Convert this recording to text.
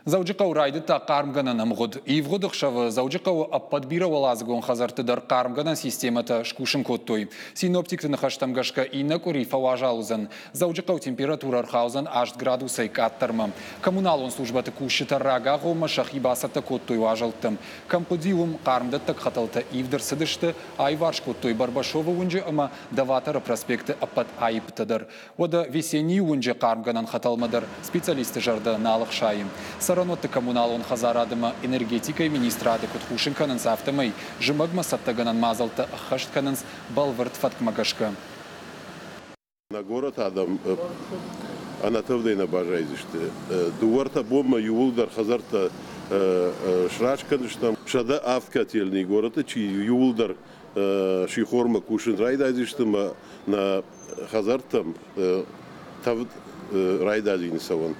Дзӕуджыхъӕуы райдыдта хъармгӕнӕн ӕмгъуыд. Ивгъуыд ӕхсӕвы Дзӕуджыхъӕуы ӕппӕт бирӕуӕладзыгон хӕдзӕртты дӕр хъармгӕнӕн системӕтӕ скусын кодтой. Синоптикты ныхӕстӕм гӕсгӕ иннӕ къуыри фӕуазал уыдзӕн. Дзӕуджыхъӕуы температурӕ ӕрхаудзӕн 8 градусӕй къаддӕрмӕ. Коммуналон службӕты кусджытӕ рагагъоммӕ сӕхи бацӕттӕ кодтой уазӕлттӕм. Кӕм хъуыди, уым хъармдӕттӕг хӕтӕлтӕ ивд ӕрцыдысты, аиварс кодтой Барбашовы уынджы ӕмӕ Доваторы проспекты ӕппӕт аиппытӕ дӕр. Уӕдӕ Весеннийы уынджы хъармгӕнӕн хӕтӕлмӕ дӕр специалистты зӕрдӕ нал ӕхсайы. Цӕрӕнуӕтты коммуналон хӕдзарад ӕмӕ энергетикӕйы министрады куыд хъусын кӕнынц, афтӕмӕй зымӕгмӕ цӕттӕгӕнӕн мадзӕлттӕ ӕххӕст кӕнынц бӕлвырд фӕткмӕ гӕсгӕ. Нӕ горӕты адӕм ӕнӕтӕвдӕй нӕ баззайдзысты. Дыууӕ-ӕртӕ бонмӕ иууылдӕр хӕдзӕрттӕ сраст кӕндзыстӕм. 107 котельный горӕты чи иууылдӕр сихормӕ кусын райдайдзысты ӕмӕ нӕ хӕдзӕрттӕм тӕвд райдадзины цӕуын.